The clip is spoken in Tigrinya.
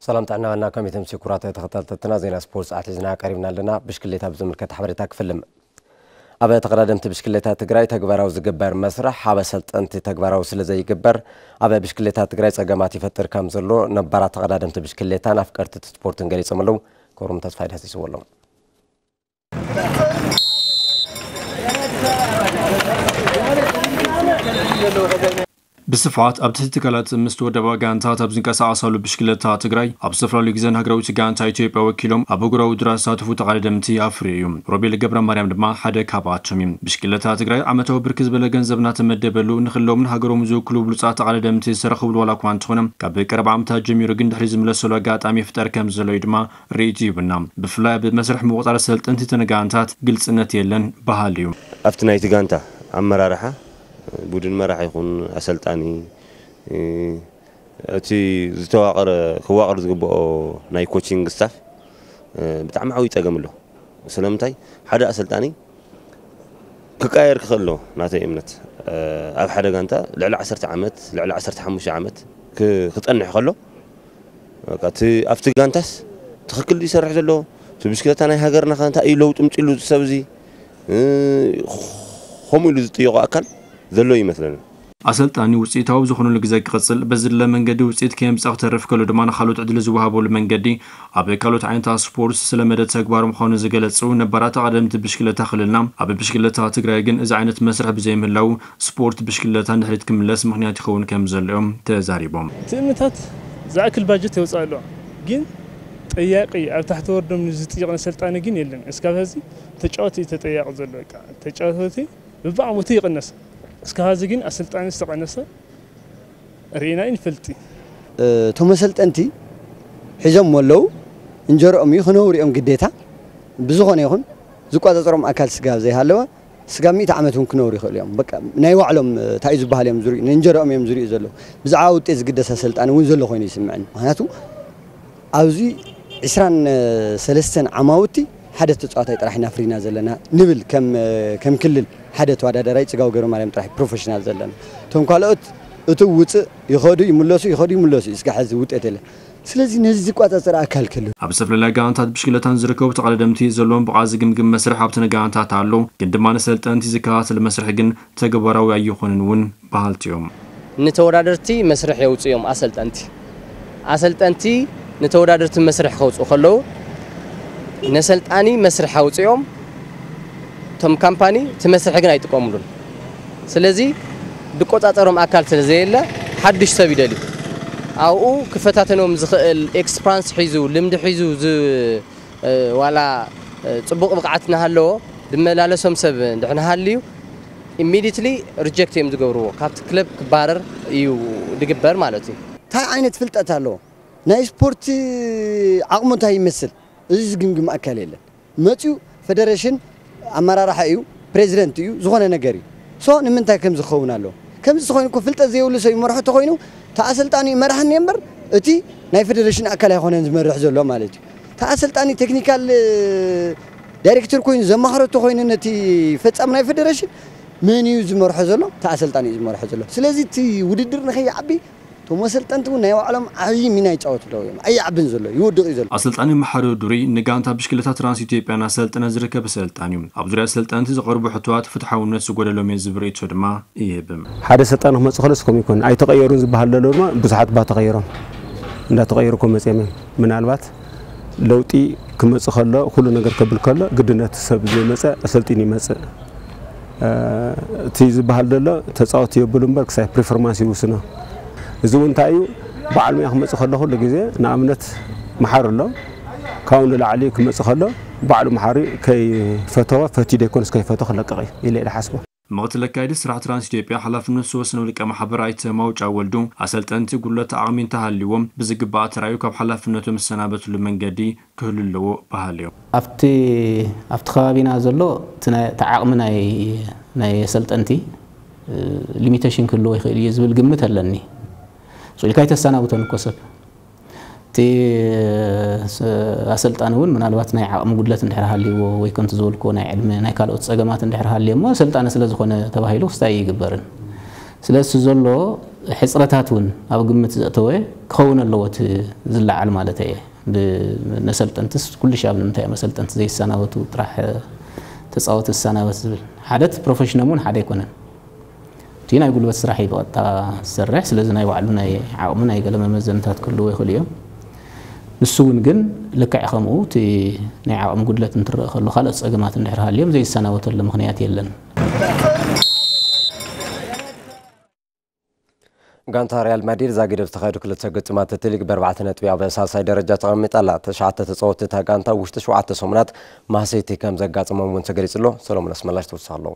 ሰላም ጥዕና ዋና ኮሚቴ ምስ ክቡራት ተኸታተልትና ዜና ስፖርት ሰዓት ሒዝና ቀሪብና ኣለና። ብሽክሌታ ብዝምልከት ሓበሬታ ክፍልም። ኣብ ተቐዳደምቲ ብሽክሌታ ትግራይ ተግባራዊ ዝግበር መስርሕ ኣብ ኣሰልጠንቲ ተግባራዊ ስለ ዘይግበር ኣብ ብሽክሌታ ትግራይ ጸገማት ይፈጥር ከም ዘሎ ነባራት ተቐዳደምቲ ብሽክሌታን ኣፍቀርቲ ስፖርትን ገሊጾም ኣለዉ። ክብሮም ተስፋይ ዳህሲስዎ ኣሎ። ብስፍሓት ኣብ ትሕቲ ትካላት ምስ ተወደባ ጋንታት ኣብ ዝንቀሳቐሳሉ ብሽክለታ ትግራይ ኣብ ዝተፈላለዩ ግዘን ሃገራዊት ጋንታ ኢትዮጵያ ወኪሎም ኣብ ኣህጉራዊ ውድድራት ዝሳተፉ ተቐዳደምቲ ኣፍርዩ እዩ። ሮቤል ገብረ ማርያም ድማ ሓደ ካብኣቶም እዩ። ብሽክለታ ትግራይ ዓመታዊ ብርክት ዝበለ ገንዘብ እናተመደበሉ ንክለዎም ንሃገሮም ዝውክሉ ብሉፃት ተቐዳደምቲ ዝተረኽብሉ ዋላ እኳ እንተኾነ ካብ ቀረባ ዓመታት ጀሚሩ ግን ድሕሪ ዝምለሰሉ ኣጋጣሚ ይፍጠር ከም ዘሎ እዩ ድማ ርእይቶ ይብና። ብፍላይ ኣብ መስርሕ ምቁፃር ሰልጠንቲ ተነጋንታት ግልፅነት የለን በሃሊ እዩ። ኣብቲ ናይቲ ጋንታ ኣመራርሓ ቡድን መራሕ ይኹን ኣሰልጣኒ እቲ ዝተዋቐረ ክዋቐር ዝግብኦ ናይ ኮቺንግ ስታፍ ብጣዕሚ ዓብዪ ፀገም ኣሎ። ስለምንታይ ሓደ ኣሰልጣኒ ክቀየር ክኽእል ኣለዎ። ናተይ እምነት ኣብ ሓደ ጋንታ ልዕሊ ዓሰርተ ዓመት ልዕሊ ዓሰርተ ሓሙሽተ ዓመት ክፀንሕ ከሎ በቃ እቲ ኣብቲ ጋንታስ ትኽክል ድዩ ይሰርሕ ዘሎ? እቲ ብሽክለታ ናይ ሃገርና ከ እንታይ እዩ ለውጢ ምፅሉ እዚ ሰብ እዚ? ከምኡ ኢሉ ዝጥየቆ ኣካል ዘሎ ይመስለኒ። ኣሰልጣኒ ውፅኢታዊ ዝኾነሉ ግዜ ክቕፅል በዝድለ መንገዲ ውፅኢት ከየምፅኣ ክተርፍ ከሎ ድማ ንካልኦት ዕድል ዝወሃበሉ መንገዲ ኣብ ካልኦት ዓይነታት ስፖርት ስለመደ ተግባር ምዃኑ ዝገለፁ ነባራት ኣቐደምቲ ብሽክለታ ክልልና ኣብ ብሽክለታ ትግራይ ግን እዚ ዓይነት መስርሕ ብዘይምህላው ስፖርት ብሽክለታ ንድሕሪት ክምለስ ምኽንያት ይኸውን ከም ዘሎ እዮም ተዛሪቦም። ትእምታት ዝኣክል ባጀት የውፅእ ኣሎ፣ ግን ጠያቂ ኣብ ታሕቲ ወርዶም ዝጥይቕ ነሰልጣኒ ግን የለን። እስካብ ሀዚ ተጫወቲ እዩ ተጠያቂ ዘሎ። በቃ ተጫወቲ ብብዓሞቱ ይቕነስ። እስካብ ሀዚ ግን ኣሰልጣኒ ዝተቐነሰ ርኢና ይንፈልጥ። እቶም ኣሰልጠንቲ ሒዞም ኣለዉ። እንጀርኦም እዩ ክነውሩ እዮም ግዴታ። ብዝኾነ ይኹን ዝቋፃፀሮም ኣካል ስጋብ ዘይሃለወ ስጋብ ሚእቲ ዓመት እውን ክነብሩ ይኽእሉ እዮም። በቃ ናይ ባዕሎም እንታይ እዩ ዝበሃል እዮም ዝርእዩ፣ ንእንጀርኦም እዮም ዝርእዩ ዘለዉ። ብዛዕባ ውጤት ዝግደስ ኣሰልጣኒ እውን ዘሎ ኮይኑ ይስምዐኒ። ምክንያቱ ኣብዚ ዕስራን ሰለስተን ዓማውቲ ሓደ ተፃዋታይ ጥራሕ ኢና ኣፍሪና ዘለና ንብል ከም ከም ክልል ሓደ ተወዳዳራይ ፅጋቡ ገብረማርያም ጥራሕ ፕሮፌሽናል ዘለና። እቶም ካልኦት እትው ውፅእ ይኸዱ ይምለሱ ይኸዱ ይምለሱ እዩ። እስካብ ሕዚ ውጤት የለን። ስለዚ ነዚ ዝቋፃፀር ኣካል ክህሉ ኣብ ዝተፈላለያ ጋንታት ብሽክለታን ዝርከቡ ተቐዳደምቲ ዘለዎም ብቕዓት ዝግምግም መስርሕ ኣብተን ጋንታት ኣሎ፣ ግን ድማ ንሰልጠንቲ ዝከታተል መስርሕ ግን ተግባራዊ ኣይኾነን እውን በሃልቲ እዮም። ንተወዳደርቲ መስርሕ የውፅኡ እዮም ኣሰልጠንቲ። ኣሰልጠንቲ ንተወዳደርቲ መስርሕ ከውፅኡ ከለዉ ነሰልጣኒ መስርሕ ኣውፅኦም እቶም ካምፓኒ እቲ መስርሒ ግን ኣይጥቀምሉን። ስለዚ ዝቆፃፀሮም ኣካል ስለ ዘየለ ሓድሽ ሰብ ይደልዩ። ኣብኡ ክፈታተኖም ዝኽእል ኤክስፕራንስ ሒዙ ልምዲ ሒዙ ዝ- እ፣ ዋላ እ፣ ፅቡቕ ብቕዓት እናሃለዎ ዝመላለሶም ሰብ እንድሕር እናሃልዩ ኢሚዲትሊ ሪጀክት እዮም ዝገብርዎ። ካብቲ ክለብ ክባረር እዩ ዝግበር ማለት እዩ። እንታይ ዓይነት ፍልጠት ኣለዎ? ናይ ስፖርት ዓቕሙ እንታይ ይመስል? እዚ ዝግምግም ኣካል የለን። መፅዩ ፌደሬሽን ኣመራርሓ እዩ፣ ፕሬዚደንት እዩ፣ ዝኾነ ነገር እዩ። ሶ ንምንታይ ከምዚ ክኸውን ኣለዎ? ከምዚ ተኾይኑ እኮ ፍልጠት ዘይብሉ ሰብ ይመርሖ ተኾይኑ እቲ ኣሰልጣኒ እዩ መራሕኒ እምበር እቲ ናይ ፌደሬሽን ኣካል ኣይኮነን ዝመርሕ ዘሎ ማለት እዩ። እቲ ኣሰልጣኒ ቴክኒካል ዳይሬክተር ኮይኑ ዘማኽሮ ተኾይኑ ነቲ ፈጻሚ ናይ ፌደሬሽን መን እዩ ዝመርሖ ዘሎ? እቲ ኣሰልጣኒ እዩ ዝመርሖ ዘሎ። ስለዚ እቲ ውድድር ንኸይዓቢ እቶም ኣሰልጠንቲ እውን ናይ ባዕሎም ዓብዪ ሚና ይጫወቱ ኣለዉ እዮም። ኣይዓብን ዘሎ፣ ይወድቕ እዩ ዘሎ። ኣሰልጣኒ መሓሪ ዱሪ ንጋንታ ብሽክለታ ትራንስ ኢትዮጵያ እናሰልጠነ ዝርከብ ኣሰልጣኒ እዩ። ኣብ ዙርያ ኣሰልጠንቲ ዝቐርቡ ሕቶታት ፍትሓውነት ዝጎደሎም እዮም ዝብል ርእይቶ ድማ ይህብ። ሓደ ኣሰልጣኒ ክመፅእ ከሎ እስከም ይኮን ኣይተቐየሩን ዝበሃል ዘሎ ድማ ብዙሓት እባ ተቐይሮም እንዳተቐየሩ እኮ መፅኦም እዮም። ምናልባት ለውጢ ክመፅእ ከሎ ኩሉ ነገር ከብል ከሎ ግድነት ሰብ ዘይመፀ ኣሰልጢኑ ይመፅእ። እ፣ እቲ ዝበሃል ዘሎ ተፃወት የብሉ እምበር ክሳይ ፕሪፎርማንስ ይውስኖ። እዚ እውን እንታይ እዩ? በዓል ሙያ ክመፅእ ከሎ ኩሉ ግዜ ንኣብነት መሓሪ ኣሎ። ካብኡ ንላዕሊ ክመፅእ ከሎ ባዕሉ መሓሪ ከይፈተወ ፈትዩ ደይኮነስ ከይፈተወ ክለቅቕ እዩ ኢለ እየ ዝሓስቦ። ምኽትል ኣካያዲ ስራሕ ትራንስ ኢትዮጵያ ሓላፍነት ዝወሰነ ውልቀ ማሕበር ኣይተ ማውጫ ወልዱ ኣሰልጠንቲ ጉድለት ዓቕሚ እንተሃልይዎም ብዝግባእ ተራዩ ካብ ሓላፍነቶም ዝሰናበትሉ መንገዲ ክህሉ ኣለዎ በሃሊ እዮም። ኣብቲ ኣብቲ ከባቢና ዘሎ እቲ ናይ- እቲ ዓቕሚ ናይ ናይ ኣሰልጠንቲ እ፣ ሊሚቴሽን ክህልዎ ይኽእል እዩ ዝብል ግምት ኣለኒ። ስቕ ኢልካ ኣይተሰናብቶን እኮ ሰብ። እቲ ስ- ኣሰልጣኒ እውን ምናልባት ናይ ዓቕሚ ጉድለት እንድሕር ሃልይዎ ወይ ከምቲ ዝበልክዎ ናይ ዕድመ ናይ ካልኦት ጸገማት እንድሕር ሃልዮ እሞ ኣሰልጣኒ ስለ ዝኾነ ተባሂሉ ክስታይ ኣይግበርን። ስለዚ ዘሎ ሕፅረታት እውን ኣብ ግምት ዘእተወ ክኸውን ኣለዎ እቲ ዝለዓል ማለት እየ። ብነሰልጠንትስ ኩሉ ሻብ ንምንታይ እዮም ኣሰልጠንቲ ዘይሰናበቱ? ጥራሕ ተፃወቲ ዝሰናበት ዝብል ሓደ እቲ ፕሮፌሽኖም እውን ሓደ ኣይኮነን። እቲ ናይ ጉልበት ስራሕ እዩ ብቐጥታ ዝሰርሕ። ስለዚ ናይ ባዕሉ ናይ ዓቕሚ ናይ ገለ መመዘንታት ክህልዎ ይኽእሉ እዮም። ንሱ እውን ግን ልክዕ ከምኡ እቲ ናይ ዓቕሚ ጉድለት እንትረእ ከሎ ካልኦት ፀገማት እንድሕር ሃልዮም ዘይሰናበተሉ ምኽንያት የለን። ጋንታ ሪያል ማድሪድ ዛጊድ ኣብ ዝተኻየዱ ክልተ ግጥማት እቲ ሊግ ብኣርባዕተ ነጥቢ ኣብ ሳልሳይ ደረጃ ተቐሚጣ ኣላ። ተሽዓተ ተጻወትቲ እታ ጋንታ ውሽጢ ሸውዓተ ሰሙናት ማህሰይቲ ከም ዘጋጠሞም እውን ተገሊጹ ኣሎ። ሰሎሞን ኣስመላሽ ተወሳኺ ኣለዎ።